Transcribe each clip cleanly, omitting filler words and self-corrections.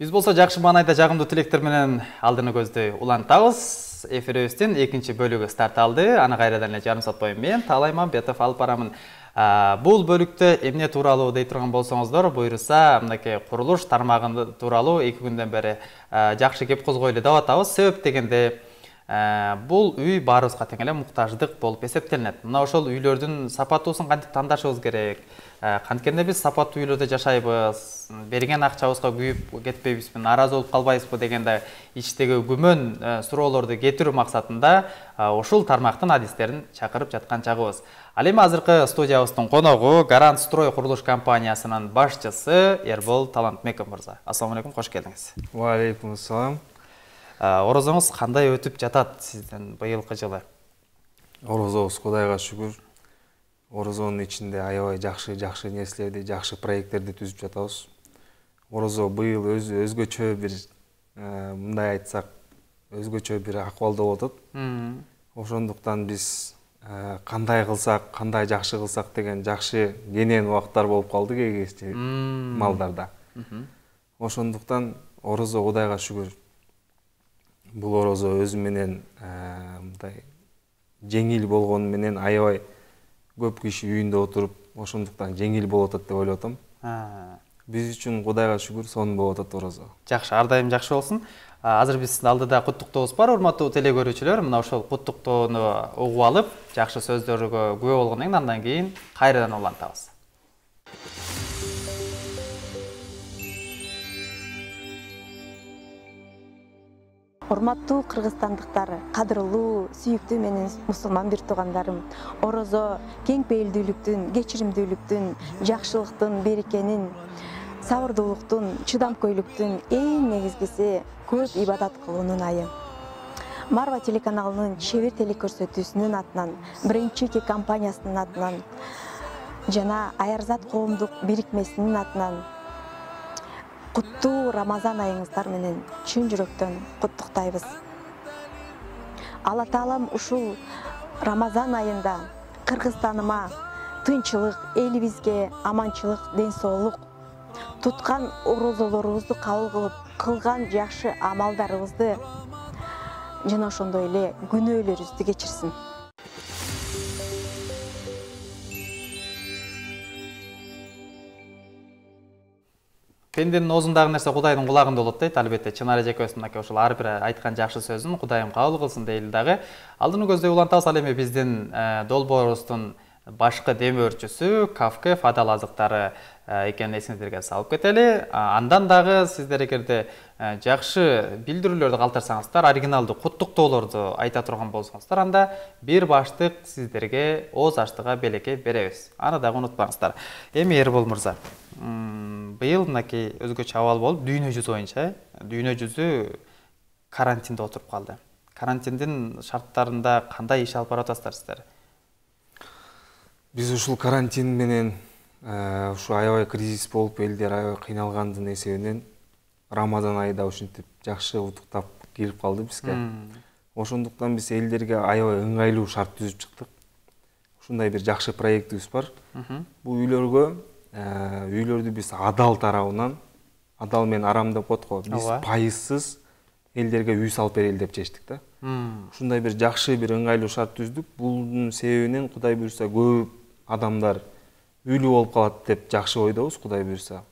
Биз болсо жакшы маанайда жагымдуу тилектер менен алдыны көздү улантабыз. Эфирибиздин экинчи бөлүгү старт алды. Аны кайрадан эле жарым саат бою мен Таалай Мамбетов алып барамын. Бул бөлүктө эмне тууралуу дей турган болсоңуздар, буйруса, мынакей курулуш тармагы тууралуу 2 күндөн бери жакшы кеп козгойлу деп атабыз. Себеп дегенде бул үй баарыбызга тең эле муктаждык болуп эсептелинет. Мына ошол үйлөрдүн сапаттуусун кантип тандашыбыз керек? Канткенде биз сапаттуу үйлөрдө жашайбыз, берген акчабызга күйүп кетпейбизби, нааразы болуп калбайбызбы дегенде ичтеги күмөн суроолорду кетирүү максатында ушул тармактын адистерин чакырып жаткан чагыбыз. Ал эми азыркы студиябыздын коногу Гарант Строй курулуш компаниясынын башчысы Эрбол Талантбеков мырза. Ассаламу алейкум, кош келдиңиз. Ва алейкум ассалам. Орозоңуз кандай өтүп жатат сиздин быйылкы жылы? Орозобуз Кудайга шүгүр. Орозонун ичинде аябай жакшы нерселерди, жакшы проекттерди түзүп жатабыз. Орозо быйыл өзгөчө бир мындай айтсак, өзгөчө бир акыбалда болуп атат. Ошондуктан биз кандай кылсак, кандай жакшы кылсак деген жакшы кенен убактар болуп калды кээ малдарда. Ошондуктан Орозо Кудайга шүгүр. Бул Орозо өзү менен мындай жеңил болгону менен аябай көп киши үйүндө отуруп, ошондуктан жеңил болуп атат деп ойлоп атам. Биз үчүн Кудайга шүгүр сонун болуп атат Орозо. Жакшы, ар дайым жакшы болсун. Азыр биздин алдыда куттуктообуз бар, урматтуу телекөрүүчүлөр. Мына ошол куттуктоону угуп алып, жакшы сөздөргө күбө болгондон кийин андан кийин кайрадан улантабыз. Урматтуу кыргызстандыктар, кадырлуу, сүйүктүү менен мусулман бир туугандарым, Орозо кең пейилдүүлүктүн, кечиримдүүлүктүн, жакшылыктын, берекенин, сабырдуулуктун, чыдамкөйлүктүн эң негизгиси көп ибадат кылуунун айы. Марва телеканалынын чебер телекөрсөтүүсүнүн атынан, биринчи компаниясынын атынан жана Аярзат коомдук бирикмесинин атынан куттуу Рамазан айыңыздар менен чын жүрөктөн куттуктайбыз. Алла Таалам ушул Рамазан айында Кыргызстаныма тынчылык, элибизге аманчылык, ден соолук, туткан орозолорубузду кабыл кылып, кылган жакшы амалдарыбызды жана ошондой эле күнөөлөрүбүздү кечирсин. Пенденин оозундагы нерсе Кудайдын кулагында болот дейт. Албетте, Чынар эжекебиз мынакей ошол ар бир айткан жакшы сөзүн Кудайым кабыл кылсын дейли дагы. Алдыны көздөй улантабыз. Ал эми биздин долбоорубуздун башкы дем өрчүсү Кафке Фадал азыктары экенин эсиңиздерге салып кетели. Андан дагы сиздер эгерде жакшы билдирүүлөрдү калтырсаңыздар, оригиналдуу куттуктоолорду айта турган болсоңуздар, анда бир баштык сиздерге ооз аштыга белекке беребиз. Аны дагы унутпаңыздар. Эми Эрбол мырза, быйыл мынакей өзгөчө абал болуп, дүйнө жүзү боюнча, дүйнө жүзү карантинде отуруп калды. Карантиндин шарттарында кандай иш алып баратасыздар сиздер? Биз ушул карантин менен ушу аябай кризис болуп, элдер аябай кыйналгандын эсебинен Рамазан айда ушинтип жакшы утуктап кирип калды бизге. Ошондуктан биз элдерге аябай ыңгайлуу шарт түзүп чыктык. Ушундай бир жакшы проектибиз бар. Бул үйлөрдү биз адал тарабынан, адал менен арам деп коет го, биз пайызсыз элдерге үй салып берели деп чечтик да. Ушундай бир жакшы бир ыңгайлуу шарт түздүк. Бунун себебинен Кудай буйрса көп адамдар үйлүү болуп калат деп жакшы ойдобуз, Кудай буйрса.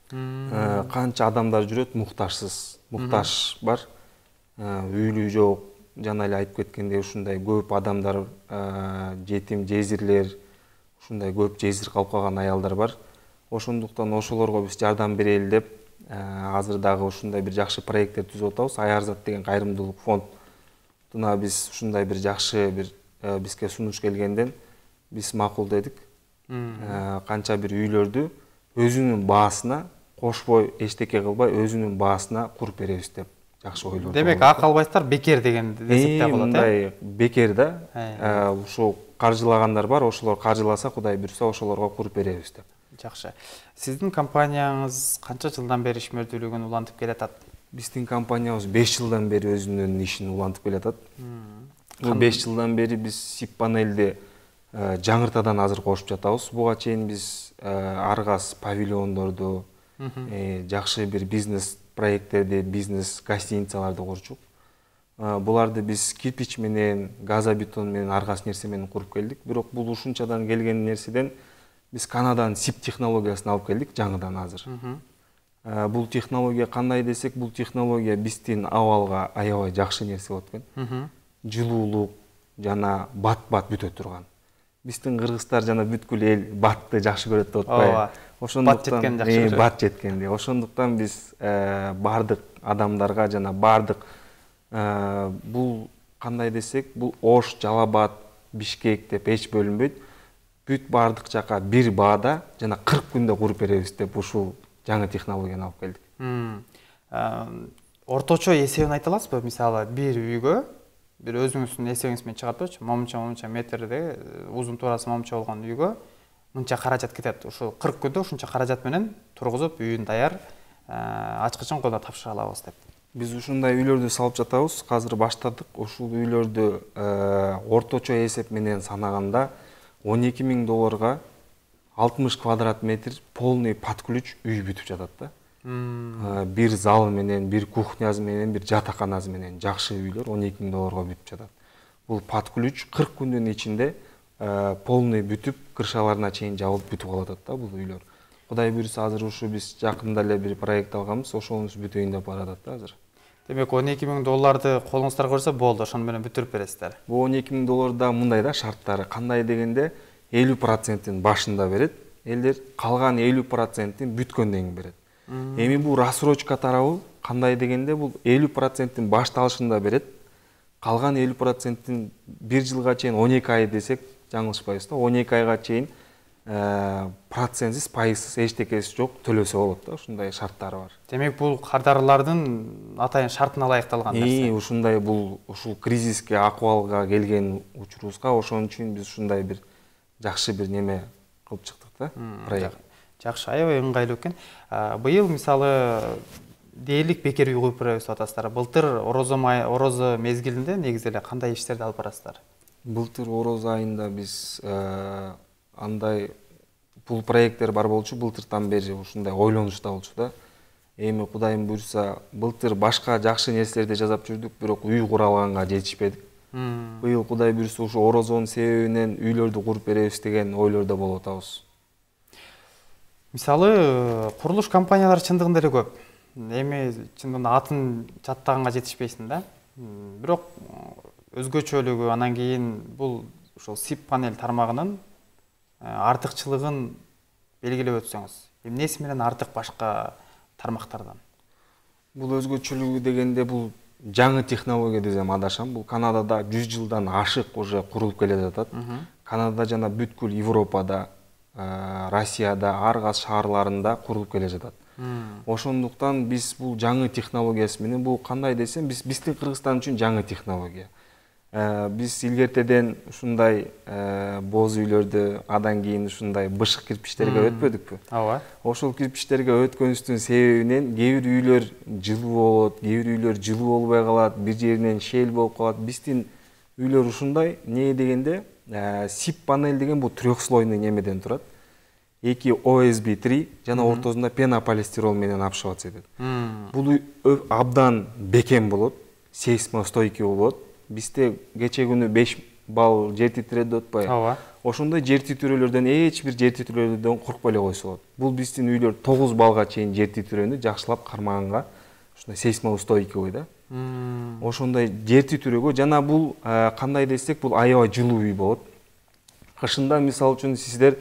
Канча адамдар жүрөт муктажсыз, муктаж бар, үйлүү жок, жана эле айтып кеткендей ушундай көп адамдар, жетим, жезирлер, ушундай көп жезир калып калган аялдар бар. Ошондуктан ошолорго биз жардам берели деп азыр дагы ушундай бир жакшы проекттер түзүп атабыз. Аярзат деген кайрымдуулук фондуна биз ушундай бир жакшы бир бизге сунуш келгенден биз макул дедик. Канча бир үйлөрдү өзүнүн баасына кошпой, эчтеке кылбай, өзүнүн баасына куруп беребиз деп жакшы ойлор. Демек, акы албайсыздар, бекер деген десек болот, мындай бекер да. Ушул каржылагандар бар, ошолор каржыласа, Кудай буйрса, ошолорго куруп беребиз деп. Жакшы. Сиздин компанияңыз канча жылдан бери ишмердүүлүгүн улантып келатат? Биздин компаниябыз 5 жылдан бери өзүнүн ишин улантып келатат. Бул 5 жылдан бери биз СИП панелди жаңыртадан азыр кошуп жатабыз. Буга чейин биз ар кас павильондорду, жакшы бир бизнес проекттерди, бизнес гостиницаларды курчук. Буларды биз кирпич менен, газобетон менен, ар кайсы нерсе менен куруп келдик. Бирок бул ушунчадан келген нерседен биз Канададан SIP технологиясын алып келдик жаңыдан азыр. Бул технология кандай десек, бул технология биздин абалга аябай жакшы нерсе болот экен. Жылуулук жана бат-бат бүтө турган. Биздин кыргыздар жана бүткүл эл батты жакшы көрөт деп атпайбы? Ошондуктан бат жеткенди. Ошондуктан биз бардык адамдарга жана бардык бул кандай десек, бул Ош, Жалал Абад, Бишкек деп эч бөлүнбөйт. Бүт бардык жака бир баада жана 40 күндө куруп беребиз деп ушул жаңы технологияны алып келдик. Орточо эсебин айта аласызбы? Мисалы, бир үйгө, бир өзүңүздүн эсебиңиз менен чыгарып момунча метрде узун туурасы момунча болгон үйгө мынча каражат кетет. Ушул 40 күндө ушунча каражат менен тургузуп, үйүн даяр, ачкычын колдо тапшыра алабыз деп. Биз ушундай үйлөрдү салып жатабыз. Азыр баштадык. Ушул үйлөрдү орточо эсеп менен санаганда $12,000 60 квадрат метр полный под ключ үй бүтүп жатат да. Бир залы менен, бир кухнясы менен, бир жатаканасы менен жакшы үйлөр $12,000 бүтүп жатат. Бул под ключ 40 күндүн ичинде полный бүтүп, крышаларына чейин жабылып бүтүп калат да бул үйлөр. Кудай буйруса азыр ушу биз жакында эле бир проект алганбыз, ошонун бүтөйүн деп баратат да азыр. Демек $12,000 колуңуздарга көрсө болду, ошону менен бүтүрүп бересиздер. Бул $12,000 да мындай да шарттары. Кандай дегенде 50%-ин башында берет, элдер калган 50%-ин бүткөндөн кийин берет. Эми бул рассрочка тарабы кандай дегенде бул 50%-ин башталышында берет, калган 50%-ин 1 жылга чейин 12 ай десек жаңылышпайбыз да, 12 айга чейин процентсиз, пайызсыз, эчтекеси жок төлөсө болот да, ушундай шарттары бар. Демек бул кардарлардын атайын шартына ылайыкталган нерсе. Ушундай бул ушул кризиске акыбалга келген учурубузга ошон үчүн биз ушундай бир жакшы бир неме кылып чыктык да, проект. Жакшы, аябай ыңгайлуу экен. Быйыл мисалы дээрлик бекер үй куруп беребиз деп атасыздар. Былтыр орозо мезгилинде негизи эле кандай иштерди алып барасыздар? Былтыр орозо айында биз андай бул проекттер бар болчу, былтырдан бери ушундай ойлонушта болчу да. Эми Кудайым буйруса, былтыр башка жакшы нерселерди жасап жүрдүк, бирок үй кура алганга жетишпедик. Быйыл Кудай буйруса ушу орозонун себебинен үйлөрдү куруп беребиз деген ойлордо болуп атабыз. Мисалы, курулуш компаниялары чындыгында эле көп. Эми чындыгында атын жаттаганга жетишпейсиң да. Бирок өзгөчөлүгү, анан кийин бул ошол SIP панель тармагынын артыкчылыгын белгилеп өтсөңүз. Эмнеси менен артык башка тармактардан? Бул өзгөчөлүгү дегенде бул жаңы технология десем адашам. Бул Канадада 100 жылдан ашык уже курулуп келе жатат. Канадада жана бүткүл Европада, Россияда, ар кайсы шаарларында курулуп келе жатат. Ошондуктан биз бул жаңы технологиясы менен, бул кандай десем, биздин Кыргызстан үчүн жаңы технология. Биз илгертеден ушундай боз үйлөрдү, адан кийин ушундай бышык кирпичтерге өтпөдүкпү? Ооба. Ошол кирпичтерге өткөнүбүздүн себебинен кээ бир үйлөр жылуу болот, кээ бир үйлөр жылуу болбой калат, бир жеринен шел болуп калат. Биздин үйлөр ушундай, не дегенде SIP панель деген бул трехслойный немеден турат. Эки OSB3 жана ортосунда пенополистирол менен обшиваться этет. Бул абдан бекем болот, сейсмостойкий болот. Бизде кече күнү 5 балл жер титирет деп атпайбы? Ооба. Ошондой жер титирөөлөрдөн эч бир жер титирөөлөрдөн коркпой эле койсо болот. Бул биздин үйлөр 9 баллга чейин жер титирөөнү жакшылап кармаганга ушундай сейсмоустойкий да. Ошондой жер титирөөгө жана бул кандай десек, бул аябай жылуу үй болот. Кышында мисалы үчүн сиздер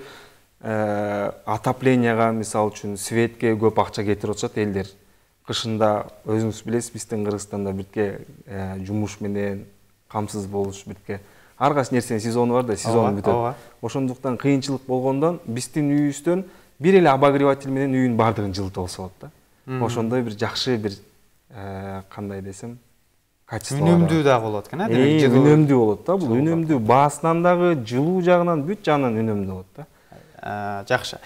отопленияга, мисалы үчүн светке көп акча кетирип атышат элдер. Кышында өзүңүз билесиз, биздин Кыргызстанда бирке жумуш менен камсыз болуш, бирке ар кайсы нерсенин сезону бар да, сезон бүтөт. Ошондуктан кыйынчылык болгондон биздин үйүбүздөн бир эле обогреватель менен үйүн бардыгын жылытып алса болот да. Ошондой бир жакшы бир кандай десем, качество. Үнөмдүү дагы болот экен, Үнөмдүү болот да, бул үнөмдүү баасынан дагы, жылуу жагынан, бүт жагынан үнөмдүү болот да. Жакшы.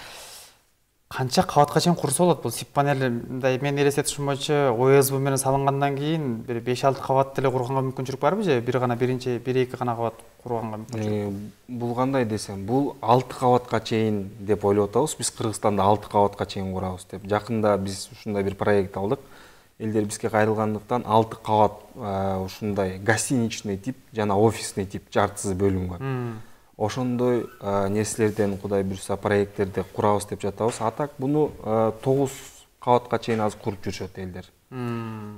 канча кабатка чейин курса болот бул сип панели? Мындай менин элестетишим боюнча ОСБ менен салынгандан кийин бир 5-6 кабат деле курганга мүмкүнчүлүк барбы же бир эки гана кабат курганга мүмкүнчүлүк? Бул кандай десем, бул 6 кабатка чейин деп ойлоп атабыз. Биз Кыргызстанда 6 кабатка чейин курабыз деп. Жакында биз ушундай бир проект алдык. Элдер бизге кайрылгандыктан 6 кабат ушундай гостиничный тип жана офисный тип жартысы бөлүнгөн. Ошондой нерселерден Кудай буйруса проекттерди курабыз деп жатабыз. А так буну 9 кабатка чейин азыр куруп жүрүшөт элдер.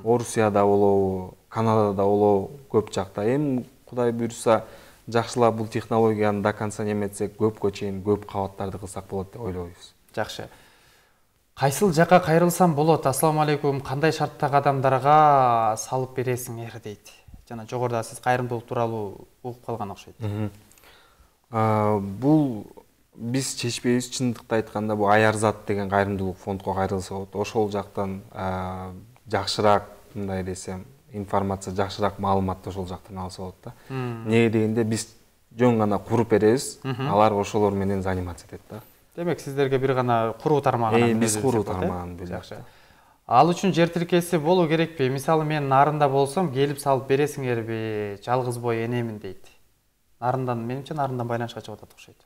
Орусияда болобу, Канадада болобу, көп жакта. Эми Кудай буйруса жакшылап бул технологияны до конца неметсек, көпкө чейин көп кабаттарды кылсак болот деп ойлойбуз. Жакшы. Кайсыл жака кайрылсам болот? Ассаламу алейкум. Кандай шарттагы адамдарга салып бересиңер дейт. Жана жогоруда сиз кайрымдуулук тууралуу угуп калган окшойт. Бул биз чечпейбиз, чындыкты айтканда бул Аярзат деген кайрымдуулук фондко кайрылса болот. Ошол жактан жакшыраак, мындай десем, информация, жакшыраак маалыматты ошол жактан алса болот да. Эмне дегенде биз жөн гана куруп беребиз, алар ошолор менен заниматься этет да. Демек сиздерге бир гана куруу тармагынан биз куруу тармагын бөлөбүз. Жакшы. Ал үчүн жер тилкеси болуу керекпи? Мисалы мен нарында болсом, келип салып бересиңерби? Жалгыз бой энемин дейт. Нарындан, менимче нарындан байланышка чыгып атат окшойт.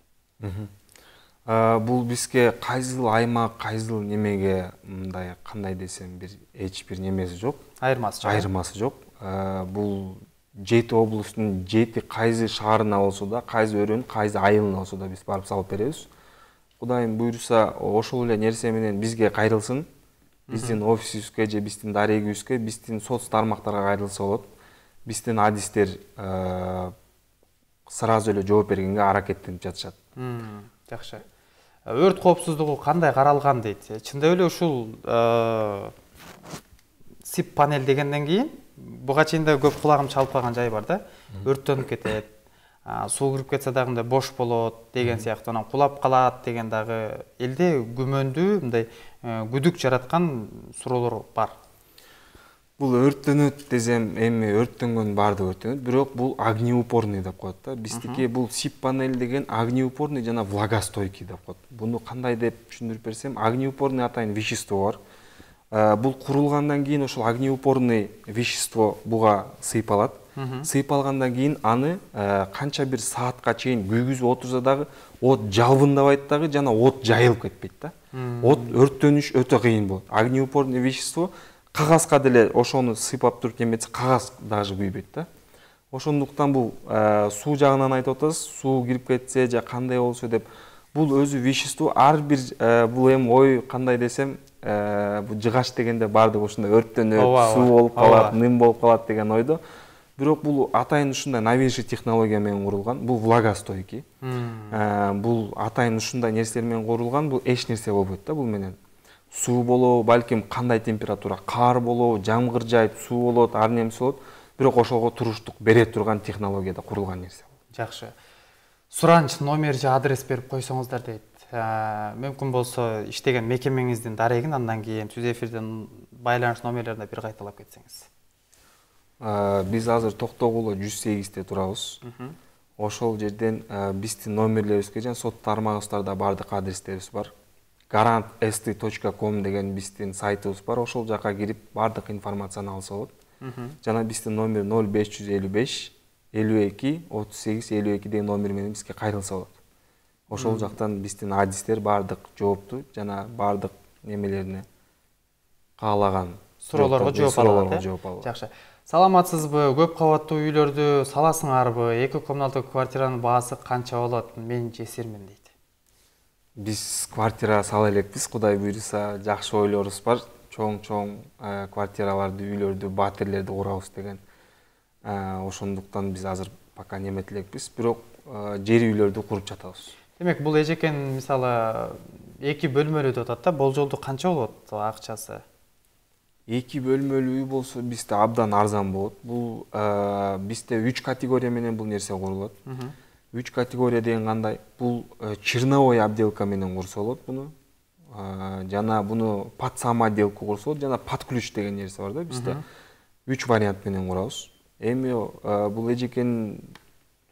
Бул бизге кайсыл аймак, кайсыл немеге мындай кандай десем бир эч бир немеси жок. Айырмасы жок. Бул 7 облустун 7 кайсы шаарына болсо да, кайсы өрөөнүн кайсы айылына болсо да биз барып салып беребиз. Кудайым буйруса ошол эле нерсе менен бизге кайрылсын. Биздин офисибизге же биздин дарегибизге, биздин соц тармактарга кайрылса болот. Биздин адистер сразу эле жооп бергенге аракеттенип жатышат. Жакшы. Өрт коопсуздугу кандай каралган дейт? Чындап эле ушул сип панель дегенден кийин буга чейин да көп кулагым чалып калган жай бар да. Өрттөнүп кетет. Суу кирип кетсе дагы мындай бош болот деген сыяктуу, анан кулап калат деген дагы элде күмөндүү, мындай күдүк жараткан суроолор бар. Бул өрттөнөт десем, эми өрттөнгөн баардыгы өрттөнөт, бирок бул огнеупорный деп коет да. Биздики бул сип панель деген огнеупорный жана влагостойкий деп коет. Буну кандай деп түшүндүрүп берсем, огнеупорный атайын вещество бар. Бул курулгандан кийин ошол огнеупорный вещество буга сыйпалат. Сыйпалгандан кийин аны канча бир саатка чейин күйгүзүп отурса дагы от жалбындабайт дагы жана от жайылып кетпейт да. От өрттөнүш өтө кыйын болот. Огнеупорный вещество кагазга деле ошону сыйпап туруп неметсе кагаз даже күйбөйт да. Ошондуктан бул суу жагынан айтып атасыз, суу кирип кетсе же кандай болсо деп бул өзү вещество ар бир бул эми ой кандай десем, бул жыгач дегенде баардыгы ушундай өрттөнөт, суу болуп калат, ным болуп калат деген ойдо. Бирок бул атайын ушундай новейший технология менен курулган. Бул влагостойкий. Бул атайын ушундай нерселер менен курулган. Бул эч нерсе болбойт да бул менен. Суу болобу, балким кандай температура, кар болобу, жамгыр жайып, суу болот, ар немеси болот. Бирок ошого туруштук бере турган технологияда курулган нерсе. Жакшы. Суранч, номер же адрес берип койсоңуздар дейт. Мүмкүн болсо иштеген мекемеңиздин дарегин андан кийин түз эфирден байланыш номерлерин бир кайталап кетсеңиз. Биз азыр Токтогулу 108-те турабыз. Ошол жерден биздин номерлерибизге жана сот тармагыбыздарда баардык адрестерибиз бар. garantst.com деген биздин сайтыбыз бар. Ошол жака кирип баардык информацияны алса болот. Жана биздин номер 0555 52 38 52 деген номер менен бизге кайрылса болот. Ошол жактан биздин адистер баардык жоопту жана баардык немелерине каалаган суроолорго жооп алат. Жакшы. Саламатсызбы? Көп кабаттуу үйлөрдү саласыңарбы? 2 комнаталуу квартиранын баасы канча болот? Мен жесирмин дейт. Биз квартира сала элекпиз, Кудай буйруса, жакшы ойлорубуз бар. Чоң квартираларды, үйлөрдү, батирлерди курабыз деген. Ошондуктан биз азыр пока немет элекпиз, бирок жер үйлөрдү куруп жатабыз. Демек, бул эжекен мисалы 2 бөлмөлүү деп атат да, болжолдуу канча болот акчасы? 2 бөлмөлүү үй болсо бизде абдан арзан болот. Бул бизде 3 категория менен бул нерсе курулат. 3 категория деген кандай? Бул черновой отделка менен курса болот буну. Жана буну под самоотделка курса болот, жана под ключ деген нерсе бар да бизде. 3 вариант менен курабыз. Эми бул эжекен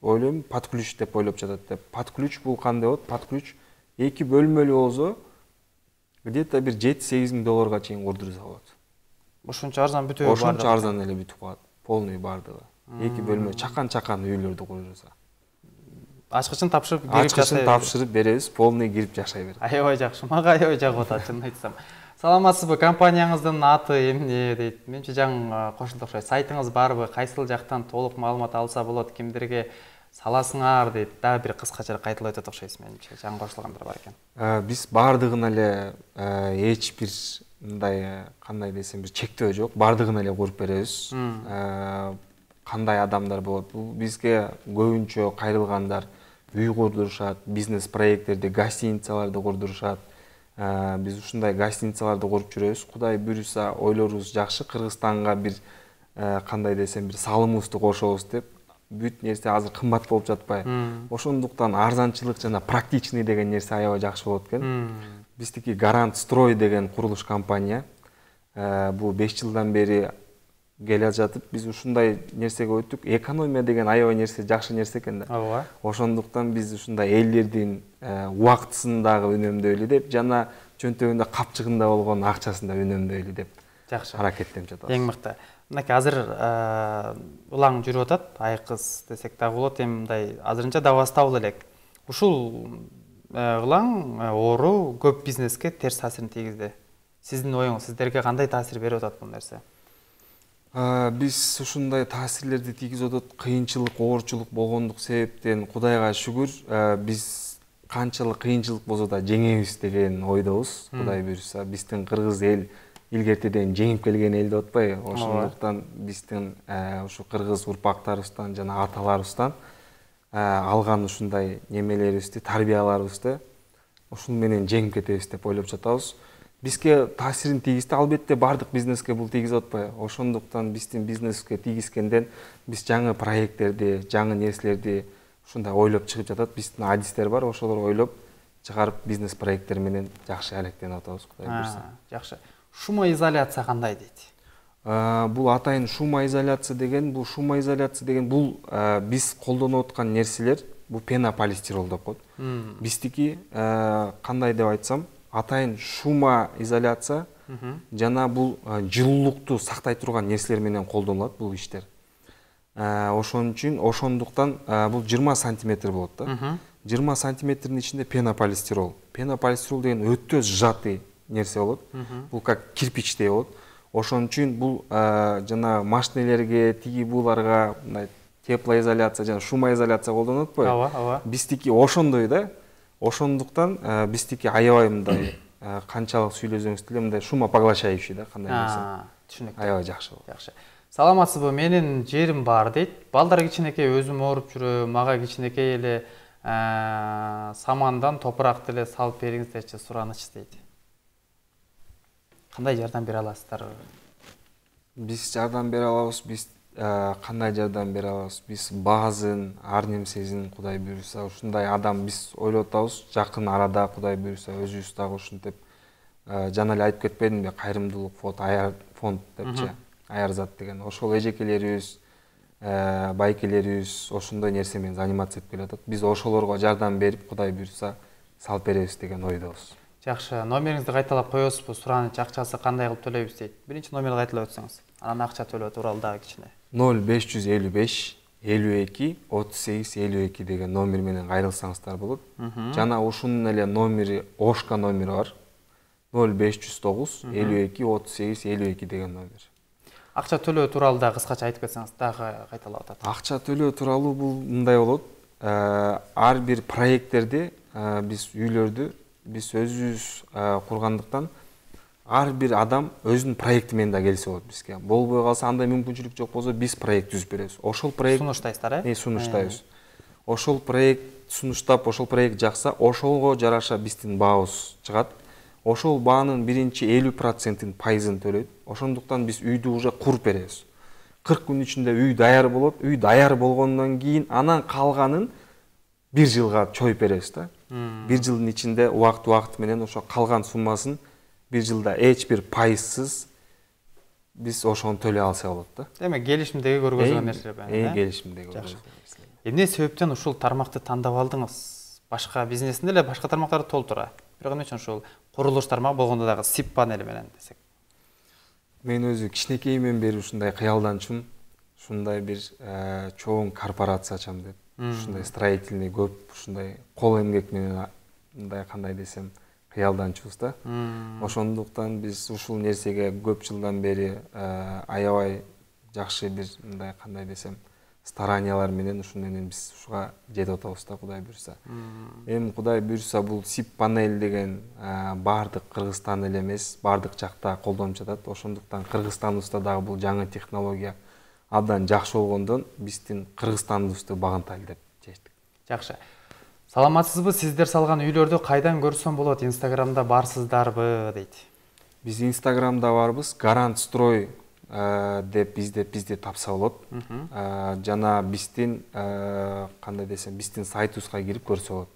ойлойм под ключ деп ойлоп жатат деп. Под ключ бул кандай болот? Под ключ 2 бөлмөлүү болсо где-то бир 7-8 миң долларга чейин курдурса болот. Ошончо арзан бүтөбү бар. Ошончо арзан эле бүтүп калат. Полный бардыгы. 2 бөлмө чакан үйлөрдү курдурса. Ачкычын тапшырып кирип жашай. Ачкычын тапшырып беребиз, полный кирип жашай берет. Аябай жакшы. Мага аябай жагып атат, чынын айтсам. Саламатсызбы? Компанияңыздын аты эмне дейт? Менче жаңы кошулду окшойт. Сайтыңыз барбы? Кайсыл жактан толук маалымат алса болот? Кимдерге саласыңар дейт. Дагы бир кыскача кайталап өтөт окшойсуз менимче. Жаңы кошулгандар бар экен. Биз бардыгын эле эч бир мындай кандай десем бир чектөө жок. Бардыгын эле куруп беребиз. Кандай адамдар болот? Бул бизге көбүнчө кайрылгандар үй курдурушат, бизнес проекттерди, гостиницаларды курдурушат. Биз ушундай гостиницаларды куруп жүрөбүз. Кудай буйруса, ойлорубуз жакшы. Кыргызстанга бир кандай десем бир салымыбызды кошобуз деп. Бүт нерсе азыр кымбат болуп жатпайбы? Ошондуктан арзанчылык жана практичный деген нерсе аябай жакшы болот экен. Биздики Гарант Строй деген курулуш компания. Бул 5 жылдан бери келе жатып, биз ушундай нерсеге өттүк. Экономия деген аябай нерсе, жакшы нерсе экен да. Ооба. Ошондуктан биз ушундай элдердин убактысын дагы үнөмдөйлү деп, жана чөнтөгүндө капчыгында болгон акчасын да үнөмдөйлү деп. Жакшы. Аракеттенип жатабыз. Эң мыкты. Мынакей азыр улаң жүрүп атат, айкыз десек дагы болот, эми мындай азырынча да бастабыл элек. Ушул улаң оору көп бизнеске терс таасирин тийгизди. Сиздин оюңуз, сиздерге кандай таасир берип атат бул нерсе? Биз ушундай таасирлерди тийгизип атат. Кыйынчылык, оорчулук болгондук себептен Кудайга шүгүр, биз канчалык кыйынчылык болсо да жеңебиз деген ойдобуз. Кудай буйруса, биздин кыргыз эл илгертеден жеңип келген эл деп атпайбы? Ошондуктан биздин ушу кыргыз урпактарыбыздан жана аталарыбыздан алган ушундай немелерибизди, тарбияларыбызды ушун менен жеңип кетебиз деп ойлоп жатабыз. Бизге таасирин тийгизди, албетте бардык бизнеске бул тийгизип атпайбы? Ошондуктан биздин бизнеске тийгизгенден биз жаңы проекттерди, жаңы нерселерди ушундай ойлоп чыгып жатат. Биздин адистер бар, ошолор ойлоп чыгарып бизнес проекттер менен жакшы алектенип атабыз, Кудай буйруса. Жакшы. Шумоизоляция кандай дейт? Бул атайын шумоизоляция деген, бул биз колдонуп аткан нерселер, бул пенополистирол деп коет. Биздики кандай деп айтсам, атайын шумоизоляция жана бул жылуулукту сактай турган нерселер менен колдонулат бул иштер. Ошондуктан бул 20 сантиметр болот да. 20 сантиметрдин ичинде пенополистирол. Пенополистирол деген өтө сжатый нерсе болот. Бул как кирпичтей болот. Ошон үчүн бул жана машинелерге, тиги буларга мындай теплоизоляция жана шумоизоляция колдонот атпайбы? Ооба. Биздики ошондой да. Ошондуктан биздики аябай мындай канчалык сүйлөсөңүз деле мындай шумопоглощающий да, кандай десем. Түшүнүктүү. Аябай жакшы болот. Жакшы. Саламатсызбы? Менин жерим бар дейт. Балдар кичинекей өзүм ооруп жүрөм, мага кичинекей эле самандан топурак деле салып бериңиздерчи, сураныч дейт. Кандай жардам бере аласыздар? Биз жардам бере алабыз. Биз кандай жардам бере алабыз? Биз баазын, ар нерсесин Кудай буйруса ушундай адам биз ойлоп атабыз. Жакын арада Кудай буйруса өзүбүз дагы ушинтип жана эле айтып кетпедимби? Кайрымдуулук фонд депчи. Аярзат деген. Ошол эжекелерибиз, байкелерибиз ошондой нерсе менен заниматься этип келатат. Биз ошолорго жардам берип, Кудай буйруса салып беребиз деген ойдобуз. Жакшы. Номериңизди кайталап коесузбу? Сураныч акчасы кандай кылып төлөйбүз дейт. Биринчи номерди кайталап өтсөңүз. Анан акча төлөө тууралуу дагы кичине. 0555 52 38 52 деген номер менен кайрылсаңыздар болот. Жана ушунун эле номери, Ошка номери бар. 0509 52 38 52 деген номер. Акча төлөө тууралуу дагы кыскача айтып кетсеңиз дагы кайталап атат. Акча төлөө тууралуу бул мындай болот. Ар бир проекттерди биз үйлөрдү биз өзүбүз кургандыктан ар бир адам өзүнүн проекти менен да келсе болот бизге. Болбой калса, андай мүмкүнчүлүк жок болсо, биз проект түзүп беребиз. Ошол проект сунуштайсыздар, сунуштайбыз. Ошол проект сунуштап, ошол проект жакса, ошолго жараша биздин баабыз чыгат. Ошол баанын биринчи 50%-ын пайызын төлөйт. Ошондуктан биз үйдү уже куруп беребиз. 40 күн ичинде үй даяр болот. Үй даяр болгондон кийин анан калганын 1 жылга чоюп беребиз да. 1 жылдын ичинде убакыт менен ошо калган суммасын 1 жылда эч бир пайызсыз биз ошону төлөй алса болот да. Демек, келишимдеги көргөзүлгөн нерселер менен. Келишимдеги көргөзүлгөн нерселер. Эмне себептен ушул тармакты тандап алдыңыз? Башка бизнесинде эле башка тармактарды толтура. Бирок эмне үчүн ушул курулуш тармагы болгондо дагы SIP панели менен десек. Мен өзү кичинекейимден бери ушундай кыялданчумун. Ушундай бир чоң корпорация ачам деп. Ушундай строительный көп, ушундай кол эмгек менен мындай кандай десем кыялданчубуз да. Ошондуктан биз ушул нерсеге көп жылдан бери аябай жакшы бир мындай кандай десем стараниялар менен ушун менен биз ушуга жетип атабыз да, Кудай буйруса. Эми Кудай буйруса бул SIP панель деген баардык Кыргызстан эле эмес, баардык жакта колдонуп жатат. Ошондуктан Кыргызстаныбызда дагы бул жаңы технология абдан жакшы болгондон биздин Кыргызстаныбызды багынтайлы деп чечтик. Жакшы. Саламатсызбы? Сиздер салган үйлөрдү кайдан көрсөм болот? Инстаграмда барсыздарбы дейт. Биз Инстаграмда барбыз. Гарант строй деп бизди тапса болот. Жана биздин кандай десем, биздин сайтыбызга кирип көрсө болот.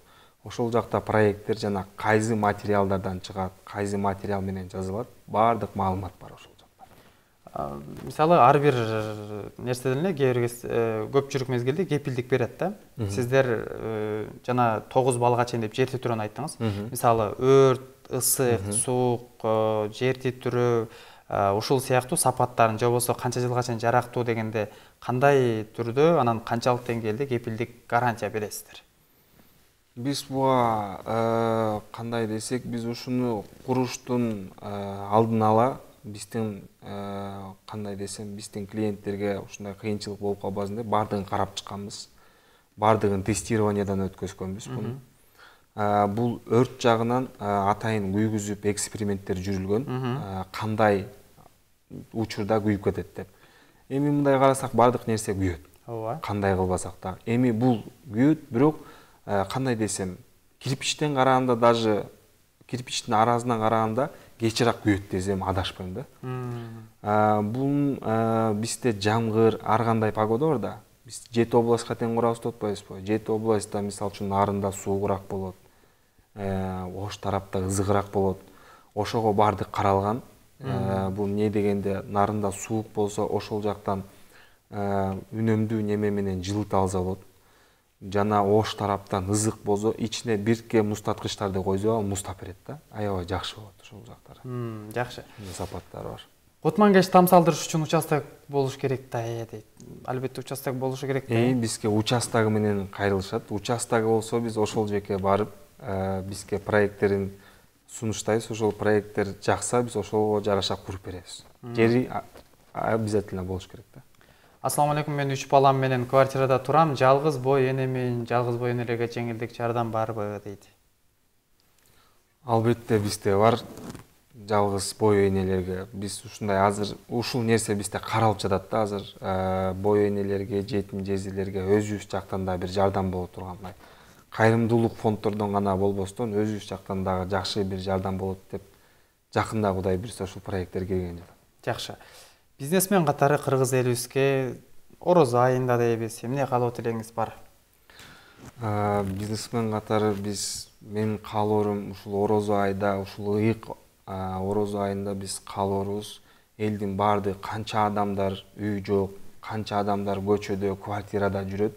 Ошол жакта проекттер жана кайсы материалдардан чыгат, кайсы материал менен жазылат, баардык маалымат бар ошол жакта. Мисалы ар бир нерседен эле кээ бир көпчүлүк мезгилде кепилдик берет да. Сиздер жана 9 балга чейин деп жер титирүүнү айттыңыз. Мисалы өрт, ысык, суук, жер титирөө ушул сыяктуу сапаттарын же болбосо канча жылга чейин жарактуу дегенде кандай түрдө, анан канчалык деңгээлде кепилдик гарантия бересиздер? Биз буга кандай десек, биз ушуну куруштун алдын ала биздин кандай десем, биздин клиенттерге ушундай кыйынчылык болуп калбасын деп баардыгын карап чыкканбыз. Баардыгын тестированиядан өткөзгөнбүз буну. Бул өрт жагынан атайын күйгүзүп эксперименттер жүрүлгөн, кандай учурда күйүп кетет деп. Эми мындай карасак баардык нерсе күйөт. Ооба. Кандай кылбасак да. Эми бул күйөт, бирок кандай десем, кирпичтен караганда, даже кирпичтин аразынан караганда кечирээк күйөт десем адашпайм да. Бул бизде жамгыр, ар кандай погода бар да. Биз 7 областка тең курабыз деп атпайбызбы? 7 областта мисалы үчүн нарында суугураак болот, Ош тарапта ызыгыраак болот. Ошого баардык каралган. Бул эмне дегенде, нарында суук болсо ошол жактан үнөмдүү неме менен жылыта алса болот. Жана Ош тараптан ызык болсо ичине бирке муздаткычтарды койсо ал муздап берет да. Аябай жакшы болот ошол жактары. Жакшы. Сапаттары бар. Кутман-кеш тамсалдырыш үчүн участок болуш керек да, дейт. Албетте участок болушу керек да. Бизге участогу менен кайрылышат. Участогу болсо биз ошол жерге барып, бизге проекттерин сунуштайбыз. Ошол проекттер жакса, биз ошого жараша куруп беребиз. Жери обязательно болуш керек да. Ассаламу алейкум, мен 3 балам менен квартирада турам. Жалгыз бой энемин, жалгыз бой энелерге жеңилдик жардам барбы дейт. Албетте бизде бар. Жалгыз бой энелерге биз ушундай азыр ушул нерсе бизде каралып жатат да азыр. Бой энелерге, жетим жездилерге өзүбүз жактан да бир жардам боло тургандай. Кайрымдуулук фонддордон гана болбостон өзүбүз жактан дагы жакшы бир жардам болот деп жакында Кудай буйруса ушул проекттер келген жатат. Жакшы. Бизнесмен катары кыргыз элибизге орозо айында дейбиз. Эмне каалоо тилегиңиз бар? Бизнесмен катары мен каалоорум ушул орозо айда, ушул ыйык орозо айында биз каалоорубуз элдин баардык канча адамдар үй жок, канча адамдар көчөдө, квартирада жүрөт.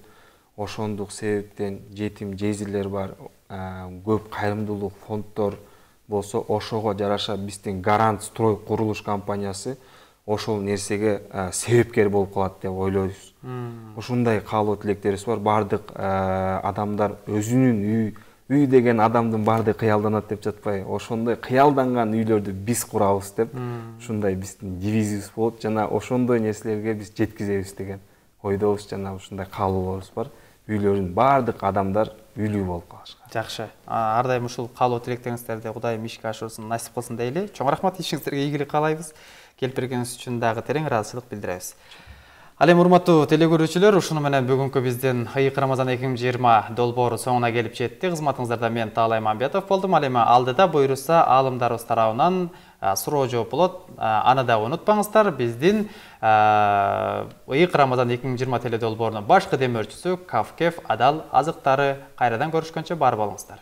Ошондук себептен жетим жездилер бар, көп кайрымдуулук фонддор болсо ошого жараша биздин Гарант строй курулуш компаниясы ошол нерсеге себепкер болуп калат деп ойлойбуз. Ушундай каалоо тилектерибиз бар. Баардык адамдар өзүнүн үй деген адамдын баардыгы кыялданат деп жатпайбы? Ошондой кыялданган үйлөрдү биз курабыз деп, ушундай биздин девизибиз болот жана ошондой нерселерге биз жеткизебиз деген ойдобуз жана ушундай каалоолорубуз бар. Үйлөрүн баардык адамдар үйлүү болуп калышка. Жакшы. Ар дайым ушул каалоо тилектериңиздерди Кудайым ишке ашырсын, насип кылсын дейли. Чоң рахмат, ишиңиздерге ийгилик каалайбыз. Келип бергениңиз үчүн дагы терең ыраазычылык билдиребиз. Ал эми урматтуу телекөрүүчүлөр, ушуну менен бүгүнкү биздин Ыйык Рамазан 2020 долбоору соңуна келип жетти. Кызматыңыздарда мен Таалай Мамбетов болдум. Ал эми алдыда буйруса аалымдарыбыз тарабынан суроо жооп болот. Аны да унутпаңыздар. Биздин Ыйык Рамазан 2020 теледолбоорунун башкы демөөрчүсү Кавкеф Адал азыктары. Кайрадан көрүшкөнчө бар болуңуздар.